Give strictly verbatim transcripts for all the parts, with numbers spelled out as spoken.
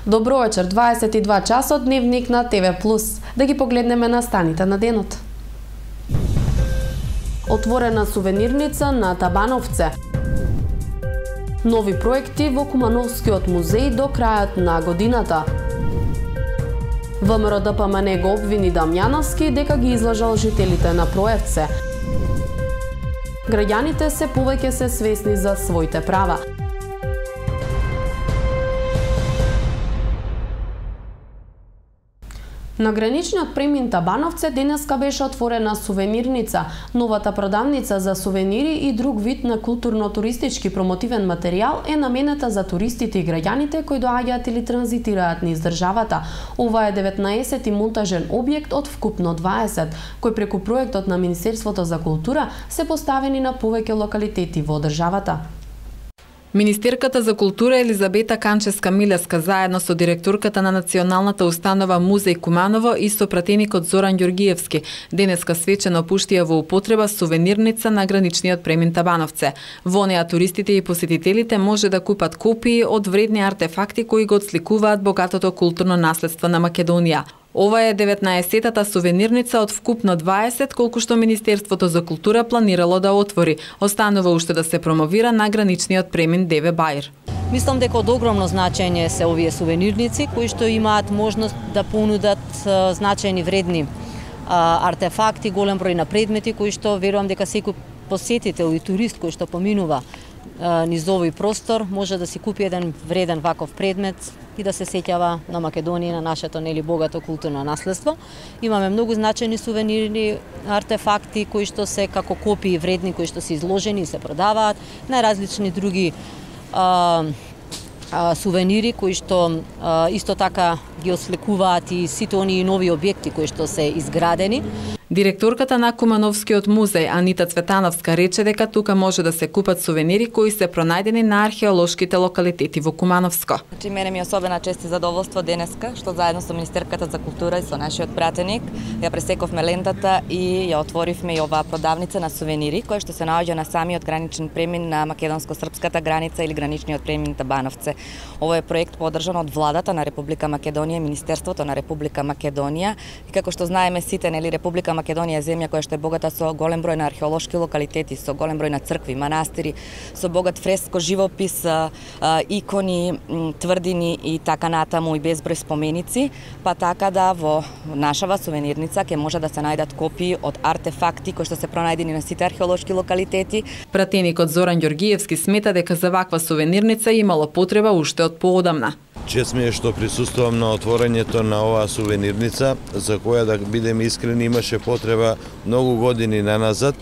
Добро вечер, дваесет и два часот, дневник на Т В плюс. Да ги погледнеме на станите на денот. Отворена сувенирница на Табановце. Нови проекти во Кумановскиот музеј до крајот на годината. ВМРО Д П М Н го обвини Дамјановски дека ги излажал жителите на Проевце. Граѓаните се повеќе се свесни за своите права. На граничниот премин Табановце денеска беше отворена сувенирница. Новата продавница за сувенири и друг вид на културно-туристички промотивен материјал е наменета за туристите и граѓаните кои доаѓаат или транзитираат низ државата. Ова е деветнаесети монтажен објект од вкупно дваесет, кој преку проектот на Министерството за култура се поставени на повеќе локалитети во државата. Министерката за култура Елизабета Канчевска-Милевска заедно со директорката на Националната установа Музеј Куманово и со пратеникот Зоран Ѓоргиевски денеска свечено пуштија во употреба сувенирница на граничниот премин Табановце. Во неа туристите и посетителите може да купат копии од вредни артефакти кои го отсликуваат богатото културно наследство на Македонија. Ова е деветнаесетата сувенирница од вкупно дваесет, колку што Министерството за култура планирало да отвори. Останува уште да се промовира на граничниот премин Деве Баир. Мислам дека од огромно значење се овие сувенирници кои што имаат можност да понудат значајни вредни артефакти, голем број на предмети кои што верувам дека секој посетител и турист кој што поминува низ овој простор може да си купи еден вреден ваков предмет и да се сеќава на Македонија, на нашето нели богато културно наследство. Имаме многу значајни сувенирни артефакти кои што се како копии вредни кои што се изложени и се продаваат, најразлични други а, а, сувенири кои што а, исто така ги осликуваат и сите оние нови објекти кои што се изградени. Директорката на Кумановскиот музеј Анита Цветановска рече дека тука може да се купат сувенири кои се пронајдени на археолошките локалитети во Кумановско. Значи, мене ми е особена чест и задоволство денеска што заедно со Министерката за култура и со нашиот пратеник ја пресековме лентата и ја отворивме и оваа продавница на сувенири која што се наоѓа на самиот граничен премин на македонско-српската граница или граничниот премин Табановце. Ова е проект поддржан од владата на Република Македонија, Министерството на Република Македонија и како што знаеме сите нели Република Македонија е земја која што е богата со голем број на археолошки локалитети, со голем број на цркви, манастири, со богат фреско живопис, икони, тврдини и така натаму и безброј споменици, па така да во нашава сувенирница ќе може да се најдат копии од артефакти кои што се пронајдени на сите археолошки локалитети. Пратеникот Зоран Ѓоргиевски смета дека за ваква сувенирница имало потреба уште од поодамна. Чест ми е што присуствувам на отворањето на оваа сувенирница, за која, да бидеме искрени, имаше потреба многу години наназад,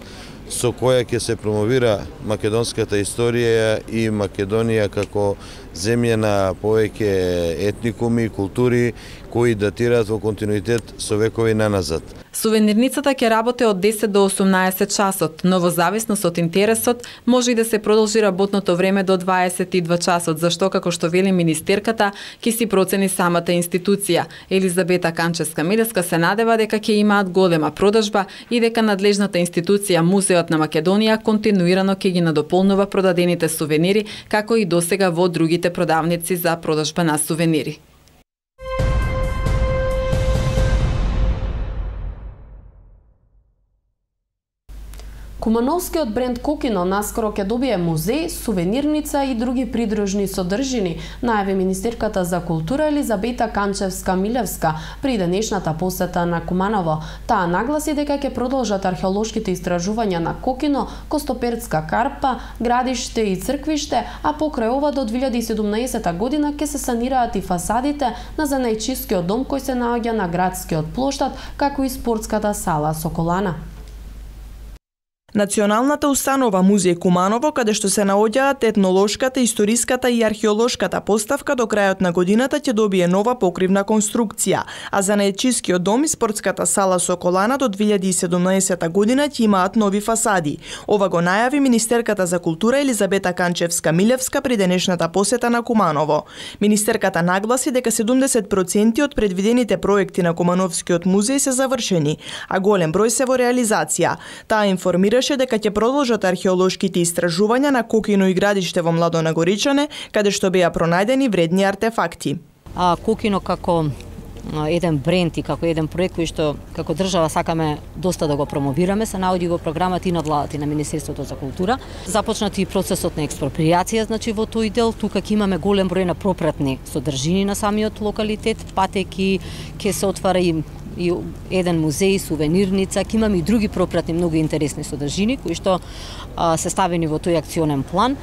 со која ќе се промовира македонската историја и Македонија како земја на повеќе етникуми и култури кои датираат во континуитет со векови наназад. Сувенирницата ќе работи од десет до осумнаесет часот, но во зависност од интересот може и да се продолжи работното време до дваесет и два часот, зашто како што вели министерката ќе си процени самата институција. Елизабета Канчевска-Милевска се надева дека ќе имаат голема продажба и дека надлежната институција Музеот на Македонија континуирано ќе ги надополнува продадените сувенири, како и досега во другите продавници за продажба на сувенири. Кумановскиот бренд Кокино наскоро ќе добие музеј, сувенирница и други придружни содржини, најави Министерката за култура Елизабета Канчевска-Милевска при денешната посета на Куманово. Таа нагласи дека ќе продолжат археолошките истражувања на Кокино, Костопертска карпа, градиште и црквиште, а покрај ова до две илјади и седумнаесета година ќе се санираат и фасадите на занајчискиот дом кој се наоѓа на градскиот плоштад, како и спортската сала Соколана. Националната установа Музеј Куманово, каде што се наоѓаат етнолошката, историската и археолошката поставка, до крајот на годината ќе добие нова покривна конструкција, а за најчискиот дом и спортската сала Соколана до две илјади и седумнаесета година ќе имаат нови фасади. Ова го најави Министерката за култура Елизабета Канчевска-Милевска при денешната посета на Куманово. Министерката нагласи дека седумдесет проценти од предвидените проекти на Кумановскиот музеј се завршени, а голем број се во реализација. Таа информира дека ќе продолжат археолошките истражувања на Кокино и градиште во Младо Нагоричане, каде што беа пронајдени вредни артефакти. А, Кокино како еден бренд и како еден проект кој што како држава сакаме доста да го промовираме, се наоѓа во програмата и на владата и на Министерството за култура. Започнати и процесот на експроприација, значи во тој дел тука ќе имаме голем број на пропратни содржини на самиот локалитет, патеки, ќе се отвара и и еден музеј, сувенирница, ќе имаме и други пропратни многу интересни содржини кои што а, се ставени во тој акционен план.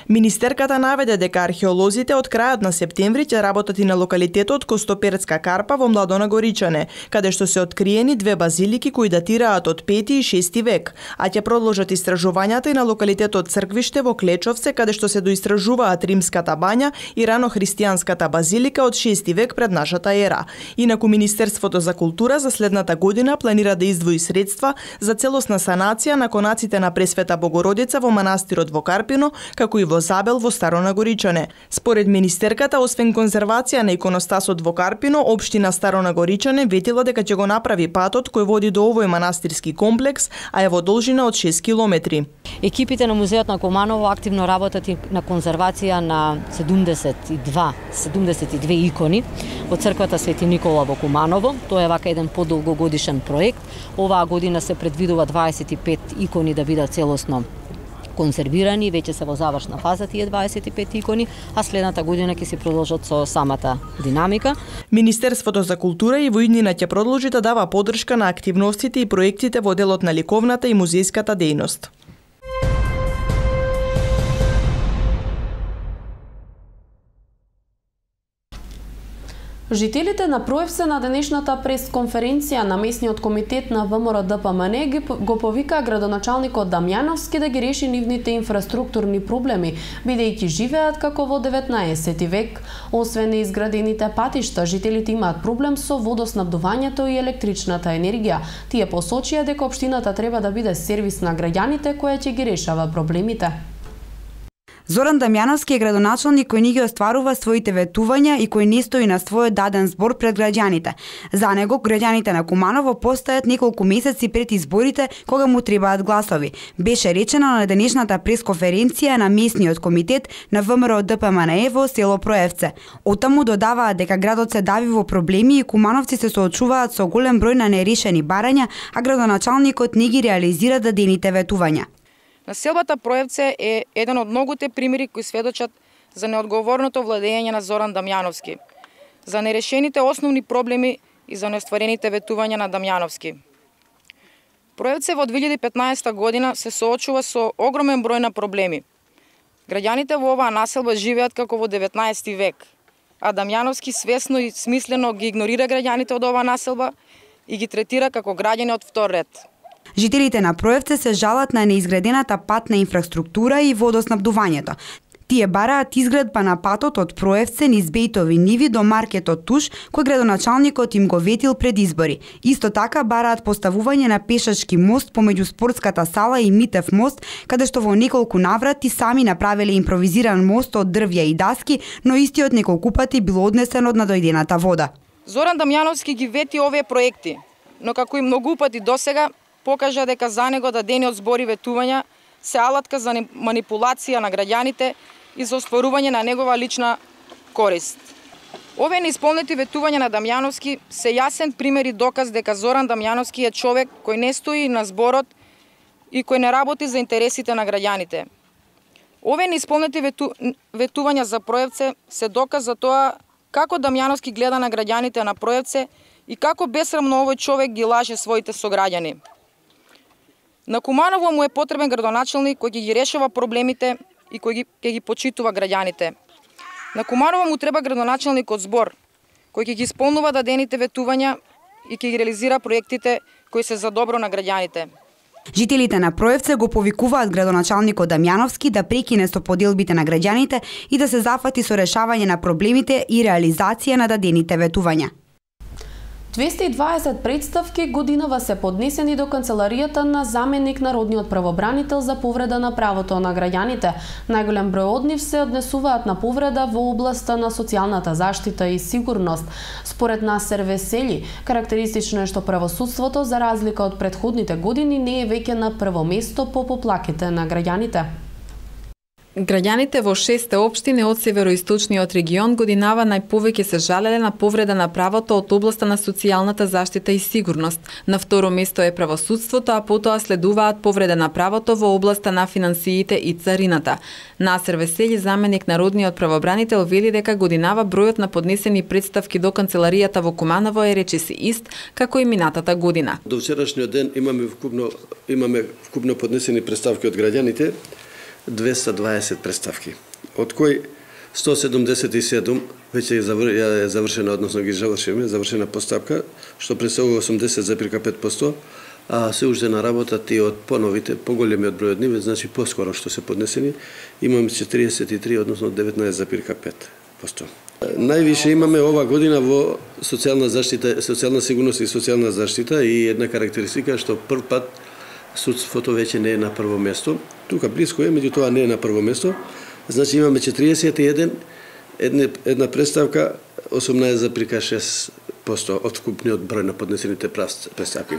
Министерката наведе дека археолозите од крајот на септември ќе работат и на локалитетот Костоперцка карпа во Младона Горичане, каде што се откриени две базилики кои датираат од пети и шести век, а ќе продолжат истражувањата и на локалитетот Црквиште во Клечовце, каде што се доистражуваат римската бања и рано христијанската базилика од шести век пред нашата ера. Инаку Министерството за култура за следната година планира да издвои средства за целосна санација на конаците на Пресвета Богородица во манастирот во Карпино, како и во Забел во Старо Нагоричане. Според министерката, освен конзервација на иконостасот во Карпино, општина Старо Нагоричане ветила дека ќе го направи патот кој води до овој манастирски комплекс, а е во должина од шест километри. Екипите на музеот на Куманово активно работат и на конзервација на седумдесет и два, седумдесет и две икони од црквата Свети Никола во Куманово. Тоа е вака еден подолгогодишен проект. Оваа година се предвидува дваесет и пет икони да бидат целосно конзервирани, веќе се во завршна фаза тие дваесет и пет икони, а следната година ќе се продолжат со самата динамика. Министерството за култура и во иднина ќе продолжи да дава поддршка на активностите и проектите во делот на ликовната и музејската дејност. Жителите на Проевце на денешната пресконференција на местниот комитет на ВМРО Д П М Н го повикаа градоначалникот Дамјановски да ги реши нивните инфраструктурни проблеми, бидејќи живеат како во деветнаесети век. Освен неизградените патишта, жителите имаат проблем со водоснабдувањето и електричната енергија. Тие посочија дека општината треба да биде сервис на граѓаните која ќе ги решава проблемите. Зоран Дамјановски е градоначалник кој ни ги остварува своите ветувања и кој не стои на својот даден збор пред граѓаните. За него, граѓаните на Куманово постојат неколку месеци пред изборите кога му требаат гласови. Беше речено на денешната пресконференција на местниот комитет на ВМРО Д П М Н во село Проевце. Оттаму додаваат дека градот се дави во проблеми и кумановци се соочуваат со голем број на нерешени барања, а градоначалникот не ги реализира дадените ветувања. Населбата Проевце е еден од многуте примери кои сведочат за неодговорното владење на Зоран Дамјановски, за нерешените основни проблеми и за неостварените ветувања на Дамјановски. Проевце во две илјади и петнаесета година се соочува со огромен број на проблеми. Граѓаните во оваа населба живеат како во деветнаесети век, а Дамјановски свесно и смислено ги игнорира граѓаните од оваа населба и ги третира како граѓани од втор ред. Жителите на Проевце се жалат на неизградената патна инфраструктура и водоснабдувањето. Тие бараат изградба на патот од Проевце низ Бејтови ниви до маркетот Туш, кој градоначалникот им го ветил пред избори. Исто така бараат поставување на пешачки мост помеѓу спортската сала и Митев мост, каде што во неколку наврати сами направиле импровизиран мост од дрвја и даски, но истиот неколку пати бил однесен од надојдената вода. Зоран Дамјановски ги вети овие проекти, но како и многу пати досега покажа дека за него дадениот збори и ветувања се алатка за манипулација на граѓаните и за остварување на негова лична корист. Овие неисполнети ветувања на Дамјановски се јасен пример и доказ дека Зоран Дамјановски е човек кој не стои на зборот и кој не работи за интересите на граѓаните. Овие неисполнети вету... ветувања за Проевце се доказ за тоа како Дамјановски гледа на граѓаните на Проевце и како бесрамно овој човек ги лаже своите сограѓани. На Куманово му е потребен градоначалник кој ќе ги решава проблемите и кој ги, ќе ги почитува граѓаните. На Куманово му треба градоначалник од збор, кој ќе ги исполнува дадените ветувања и ќе ги реализира проектите кои се за добро на граѓаните. Жителите на Проевце го повикуваат градоначалникот Дамјановски да прекине со поделбите на граѓаните и да се зафати со решавање на проблемите и реализација на дадените ветувања. двесте и дваесет представки годинава се поднесени до канцеларијата на заменик народниот правобранител за повреда на правото на граѓаните. Најголем број од нив се однесуваат на повреда во областа на социјалната заштита и сигурност. Според Насер Весели, карактеристично е што правосудството, за разлика од претходните години, не е веќе на прво место по поплаките на граѓаните. Граѓаните во шесте општини од североисточниот регион годинава најповеќе се жалеле на повреда на правото од областа на социјалната заштита и сигурност. На второ место е правосудството, а потоа следуваат повреда на правото во областа на финансиите и царината. Насер Весели, заменик народниот правобранител, вели дека годинава бројот на поднесени представки до канцеларијата во Куманово е речиси ист како и минатата година. До вчерашниот ден имаме вкупно имаме вкупно поднесени представки од граѓаните двеста дваесет представки, од кои сто седумдесет и седум веќе е завршена, односно ги завршиме, завршена постапка, што представува осумдесет зарез пет проценти, а се уште на работа ти од поновите, поголемиот број од ниве, значи поскоро што се поднесени, имаме четириесет и три, односно деветнаесет зарез пет проценти. Највише имаме ова година во социјална заштита, социјална сигурност и социјална заштита и една карактеристика што прв пат судството веќе не е на прво место. Тука близко е, меѓутоа не е на прво место. Значи имаме четириесет и еден, една, една представка, осумнаесет зарез шест проценти од вкупниот број на поднесените представки.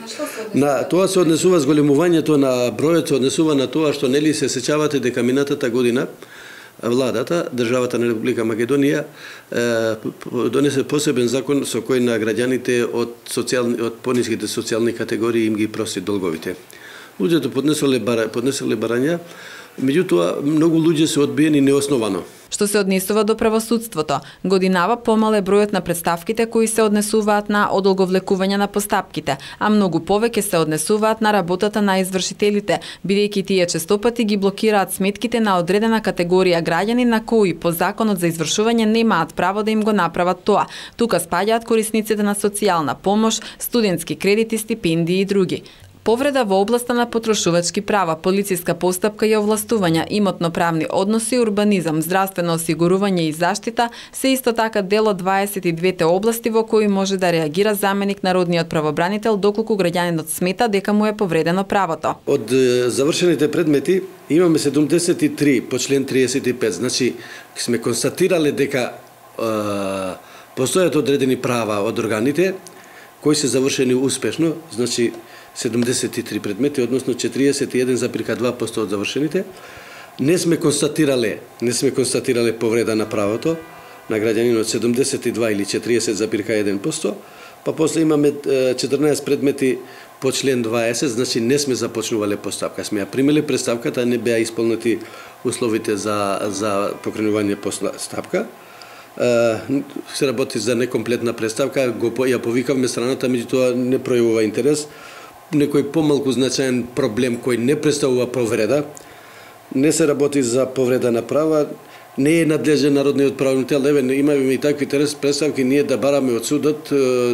На тоа се однесува зголемувањето на бројот, се однесува на тоа што нели се сеќавате дека минатата година владата, државата на Република Македонија донесе посебен закон со кој на граѓаните од социјални од пониските социјални категории им ги прости долговите. Луѓето поднеселе бара, поднеселе барања, меѓутоа многу луѓе се одбиени неосновано. Што се однесува до правосудството, годинава помал е бројот на представките кои се однесуваат на одолговлекување на постапките, а многу повеќе се однесуваат на работата на извршителите, бидејќи тие честопати ги блокираат сметките на одредена категорија граѓани на кои по законот за извршување немаат право да им го направат тоа. Тука спаѓаат корисниците на социјална помош, студентски кредити, стипендии и други. Повреда во областа на потрошувачки права, полициска постапка и овластувања, имотно-правни односи, урбанизам, здравствено осигурување и заштита се исто така дел од дваесет и двете области во кои може да реагира заменик народниот правобранител доколку граѓанинот смета дека му е повредено правото. Од завршените предмети имаме седумдесет и три по член триесет и пет. Значи сме констатирале дека е, постојат одредени права од органите кои се завршени успешно, значи седумдесет и три предмети, односно четириесет и еден зарез два проценти од завршените. Не сме констатирале, не сме констатирале повреда на правото на граѓанинот седумдесет и два или четириесет зарез еден проценти, па после имаме четрнаесет предмети по член дваесет, значи не сме започнувале постапка. Сме ја примиле представката, не беа исполнети условите за за покренување постапка. Се работи за некомплетна представка, го ја повикавме страната, меѓутоа не пројавува интерес. Некој помалку значаен проблем кој не представува повреда, не се работи за повреда на права, не е надлежен народниот правобранител, еве имаме и такви представки ние да бараме од судот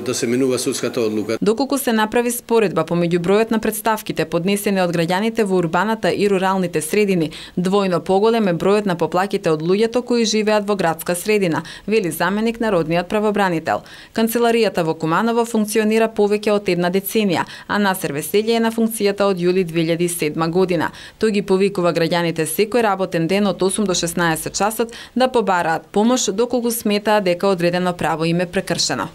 да се менува судската одлука. Доколку се направи споредба помеѓу бројот на представките поднесени од граѓаните во урбаната и руралните средини, двојно поголем е бројот на поплаките од луѓето кои живеат во градска средина, вели заменик народниот правобранител. Канцеларијата во Куманово функционира повеќе од една деценија, а Насер Весели е на функцијата од јули две илјади и седма година. Тој ги повикува граѓаните секој работен ден од осум до шеснаесет часот да побараат помош доколку сметаат дека одредено право им е прекршено.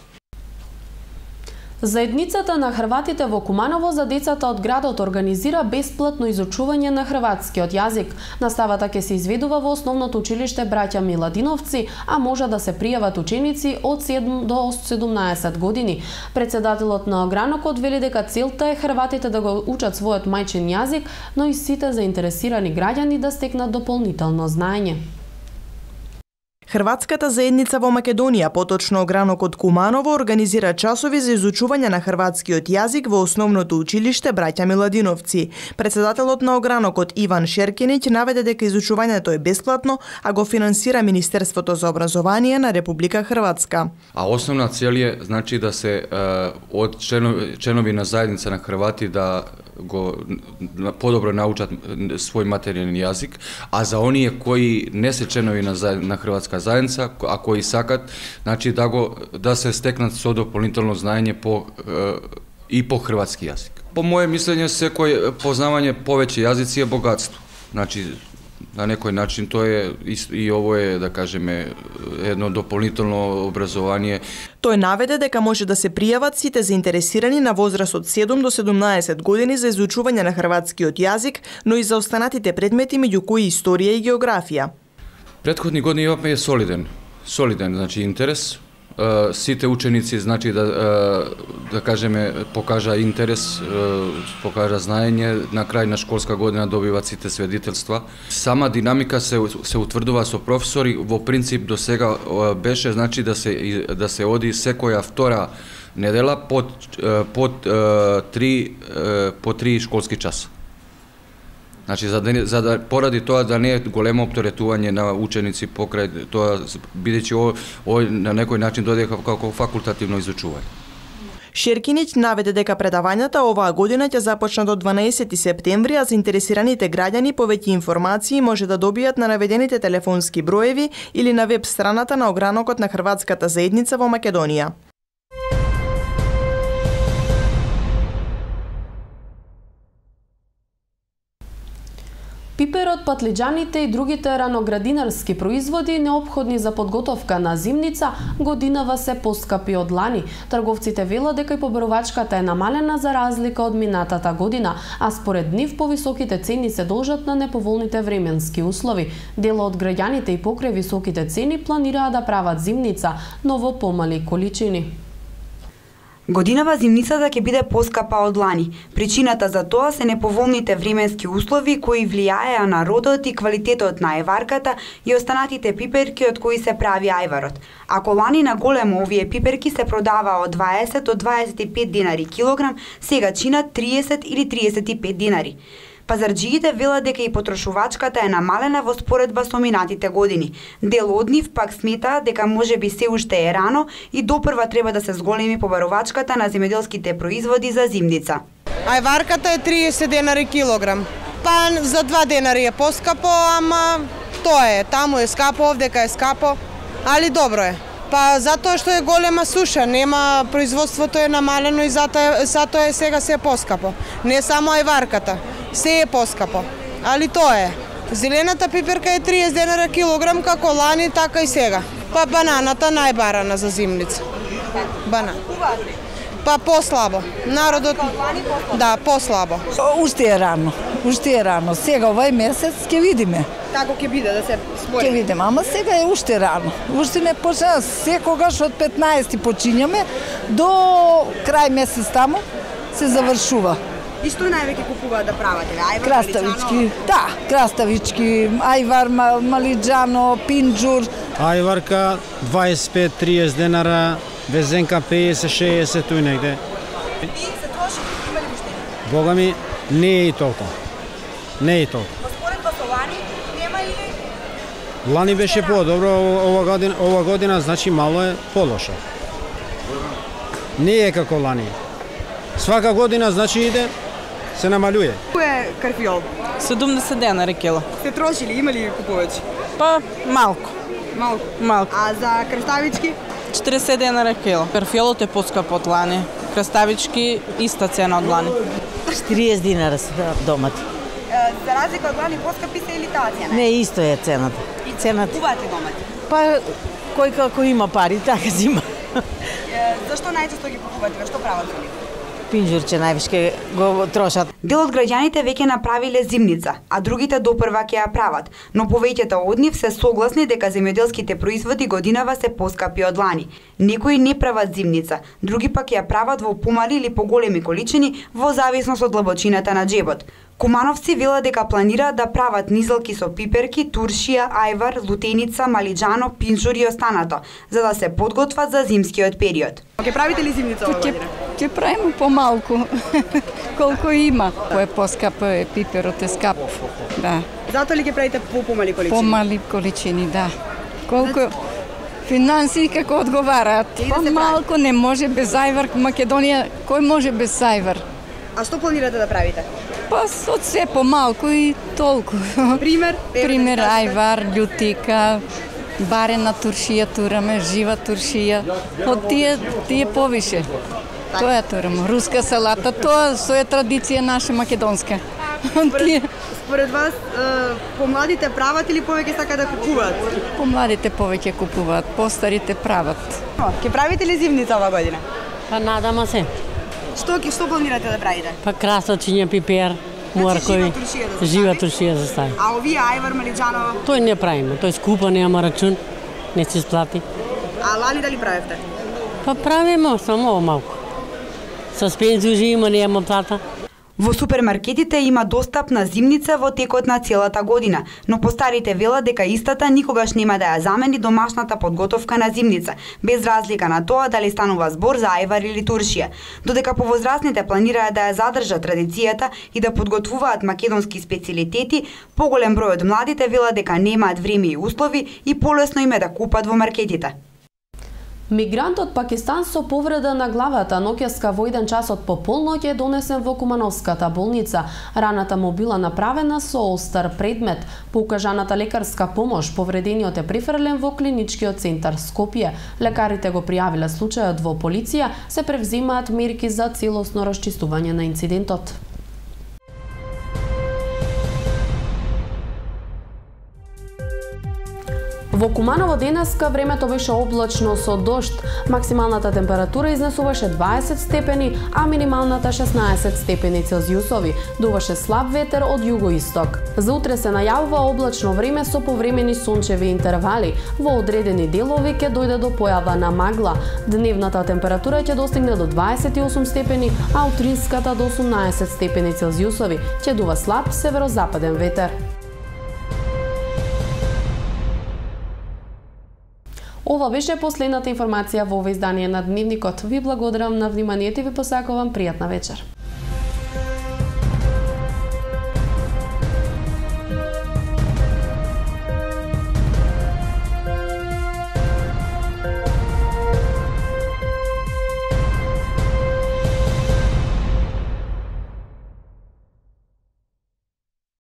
Заедницата на хрватите во Куманово за децата од градот организира бесплатно изучување на хрватскиот јазик. Наставата ќе се изведува во основното училиште Браќа Миладиновци, а може да се пријават ученици од седум до седумнаесет години. Председателот на огранокот вели дека целта е хрватите да го учат својот мајчин јазик, но и сите заинтересирани граѓани да стекнат дополнително знаење. Хрватската заедница во Македонија, поточно огранокот Куманово, организира часови за изучување на хрватскиот јазик во основното училиште Браќа Миладиновци. Председателот на огранокот Иван Шеркинич наведе дека изучувањето е бесплатно, а го финансира Министерството за образование на Република Хрватска. А основна цел е значи да се од членови, членови на заедница на Хрвати да го подобро научат свој материјален јазик, а за оние кои не се членови на, на Хрватска заедница, а кои сакат, значи да го да се стекнат со дополнително знаење по и по хрватски јазик. По моје мислење, секој познавање повеќе јазици е богатство. Значи на некој начин тоа е и ово е, да кажеме, едно дополнително образование. Тој наведе дека може да се пријават сите заинтересирани на возраст од седум до седумнаесет години за изучување на хрватскиот јазик, но и за останатите предмети меѓу кои историја и географија. Претходни години имавме солиден, солиден, значи интерес. Сите ученици, значи да да кажеме, покажа интерес, покажа знаење, на крај на школска година добиваат сите свидетелства. Сама динамика се се утврдува со професори, во принцип до сега беше значи да се да се оди секоја втора недела под под три по три школски часа. Значи за да, за да поради тоа да не е големо оптеретување на ученици покрај тоа, бидејќи ој на некој начин дојде како факултативно изучување. Шеркинич наведе дека предавањата оваа година ќе започнат од дванаесети септември, а заинтересираните граѓани повеќе информации може да добијат на наведените телефонски броеви или на веб страната на огранокот на хрватската заедница во Македонија. Пиперот, патлиџаните и другите раноградинарски производи неопходни за подготовка на зимница годинава се поскапи од лани. Трговците велат дека и побарувачката е намалена за разлика од минатата година, а според нив повисоките цени се должат на неповолните временски услови. Дел од граѓаните и покрај високите цени планираат да прават зимница, но во помали количини. Годинава зимницата ќе биде поскапа од лани. Причината за тоа се неповолните временски услови кои влијаеа на родот и квалитетот на ајварката и останатите пиперки од кои се прави ајварот. Ако лани на големо овие пиперки се продава од дваесет до дваесет и пет динари килограм, сега чинат триесет или триесет и пет динари. Пазарџиите велат дека и потрошувачката е намалена во споредба со минатите години. Дел од нив пак смета дека можеби се уште е рано и допрва треба да се зголеми побарувачката на земјоделските производи за зимница. Ајварката е триесет денари килограм. Па за два денари е поскапо, ама тоа е, таму е скапо, овдека е скапо, али добро е. Па затоа што е голема суша, нема, производството е намалено и затоа, затоа е сега се поскапо. Не само ајварката, се е поскапо, али тоа е. Зелената пиперка е триесет денара килограм, како лани, така и сега. Па бананата најбарана за зимница. Банана. Па послабо. Народот, да, послабо. Уште е рано, уште е рано. Сега овај месец ќе видиме. Како ќе биде да се спори? Ќе видиме, ама сега е уште рано. Уште не почна, секогаш од петнаесети почињаме до крај месец таму се завршува. И што највеќе купуваат да прават? Ајвар, краставички, да, краставички, ајвар, малиџано, пинџур. Ајварка дваесет и пет до триесет денара, везенка пеесет шеесет туј негде. И се троши, има ли уште? Бога ми, не е и толку. Не е и толку. Споредба со лани, нема или? Лани беше по-добро, ова година, ова година значи мало е полошо. Не е како лани. Свака година значи иде, се намалюе. Кој е карфиол? седумдесет денари кило. Се троши ли, има ли купувачи? Па малку. Малку? Малку. А за краставички? четиресет денари кило. Карфиолот е поскап од лани. Краставички иста цена од лани. четириесет динара се домати. За разлика од лани поскапи се или таа цена? Не, исто е цената. И цената. купувате домати? Па кој како има пари, така зима. Зашто најчесто ги купувате? Што прават со нив? Пинџурче највишке го трошат. Дел од граѓаните веќе направиле зимница, а другите допрва ќе ја прават, но повеќето од нив се согласни дека земјоделските производи годинава се поскапи од лани. Некои не прават зимница, други пак ја прават во помали или поголеми количини во зависност од длабочината на џебот. Кумановци велат дека планираат да прават низелки со пиперки, туршија, ајвар, лутеница, малиџано, пинџур и останато, за да се подготват за зимскиот период. Ќе правите ли зимница оваа година? Ќе правиме помалку, колку има. Кој е поскап, е пиперот е скап, да. Затоа ли ќе правите по помали количини? Помали количини, да. Колку финансии како одговараат. Помалку не може без ајвар. Македонија, кој може без ајвар? А што планирате да правите? Па од се помалку и толку. Пример? Пример, ајвар, љутика, барена туршија тураме, жива туршија. Од тие, тие повише. Тоа е тураме. Руска салата, тоа со е традиција наша македонска. Тие според вас помладите прават или повеќе сакаат да купуваат? Помладите повеќе купуваат, постарите прават. Ќе правите ли зимница оваа година? Па надама се. Што ќе што планирате да правите? Па красочиња, пипер, моркови. Жива туршија за стави. А овие ајвар, малиџаново? Тој не правиме, тој скупа, нема рачун, не се сплати. А лани дали правевте? Па правиме, само малку. Со пензужи има, нема плата. Во супермаркетите има достапна зимница во текот на целата година, но постарите велат дека истата никогаш нема да ја замени домашната подготовка на зимница, без разлика на тоа дали станува збор за ајвар или туршија. Додека повозрасните планираат да ја задржат традицијата и да подготвуваат македонски специјалитети, поголем број од младите велат дека немаат време и услови и полесно им е да купат во маркетите. Мигрант од Пакистан со повреда на главата ноќеска во еден час од пополноќ е донесен во Кумановската болница. Раната му била направена со остар предмет. По укажаната лекарска помош, повредениот е префрлен во клиничкиот центар Скопје. Лекарите го пријавиле случајот во полиција, се превземаат мерки за целосно расчистување на инцидентот. Во Куманово денеска времето беше облачно со дожд. Максималната температура изнесуваше дваесет степени, а минималната шеснаесет степени Целзиусови. Дуваше слаб ветер од југоисток. За утре се најавува облачно време со повремени сончеви интервали. Во одредени делови ќе дојде до појава на магла. Дневната температура ќе достигне до дваесет и осум степени, а утринската до осумнаесет степени Целзиусови. Ќе дува слаб северозападен ветер. Ова беше последната информација во ова издание на Дневникот. Ви благодарам на вниманието и ви посакувам пријатна вечер.